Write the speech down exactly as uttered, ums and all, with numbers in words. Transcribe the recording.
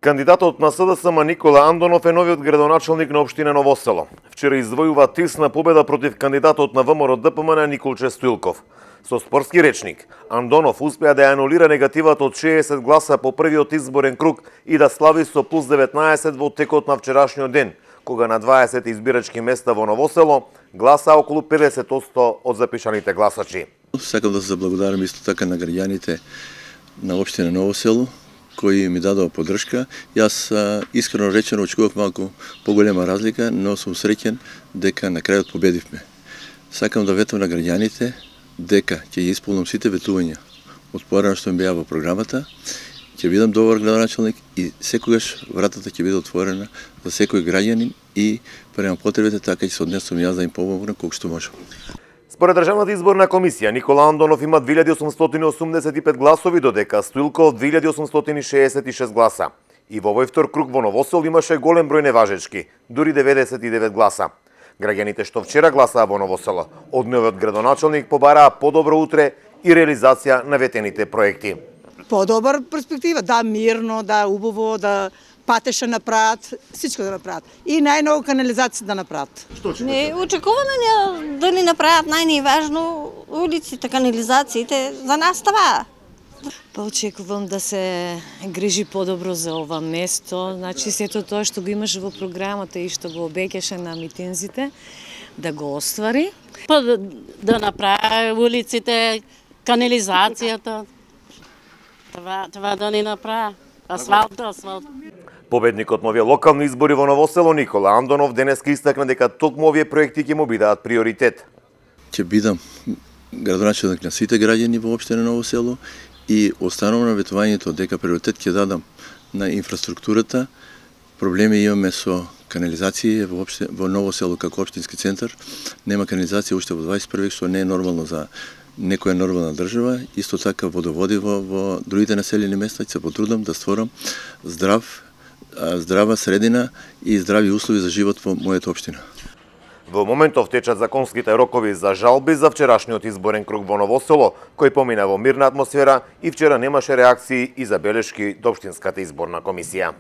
Кандидатот на СДСМ Никола Андонов е новиот градоначалник на општина Ново село. Вчера извојува тесна победа против кандидатот на ВМРО-ДПМН Николче Стоилков. Со спортски речник, Андонов успеа да ја анулира негативата од шеесет гласа по првиот изборен круг и да слави со плюс деветнаесет во текот на вчерашниот ден, кога на дваесет избирачки места во Ново село гласа околу педесет одсто од запишаните гласачи. Сакам да се заблагодарам исто така на граѓаните на општина Ново село, кои ми дадоа поддршка. Јас искрено речено очекував малку поголема разлика, но сум среќен дека на крајот победивме. Сакам да ветам на граѓаните дека ќе ја исполнам сите ветувања од порано што ми беа во програмата, ќе бидам добар градоначалник и секогаш вратата ќе биде отворена за секој граѓанин и према потребите така ќе се однесам јас да им помогнам колку што можам. Според Државната изборна комисија, Никола Андонов има две илјади осумстотини осумдесет и пет гласови, додека Стоилков две илјади осумстотини шеесет и шест гласа. И во овој втор круг во Ново село имаше голем број неважечки, дури деветдесет и девет гласа. Граѓаните што вчера гласаа во Ново село, од новиот градоначалник побараа подобро утре и реализација на ветените проекти. Подобар перспектива, да, мирно, да, убаво, да патеша направат, всичко да направат. И најново канализација да направат. Не, очекуваме да ни направат најниважно улиците, канализациите, за нас това. Па очекувам да се грижи подобро за ова место, значи сето тоа што го имаше во програмата и што го обеќаше на митинзите, да го оствари. Па да, да направи улиците, канализацијата, това, това да ни направи. Асфалт, асфалт. Победникот на овие локални избори во Ново село Никола Андонов денеска истакна дека токму овие проекти ќе му бидат приоритет. Ќе бидам градоначалник на сите граѓани во општина Ново село и останувам на ветувањето дека приоритет ќе дадам на инфраструктурата. Проблеми имаме со канализација во, опште, во Ново село како општински центар. Нема канализација уште во дваесет и први век, што не е нормално за некоја нормална држава. Исто така водоводи во, во другите населени места. Ќе се потрудам да створам здрав, здрава средина и здрави услови за живот во мојата општина. Во моментов течат законските рокови за жалби за вчерашниот изборен круг во Ново село, кој помина во мирна атмосфера и вчера немаше реакции и забелешки до општинската изборна комисија.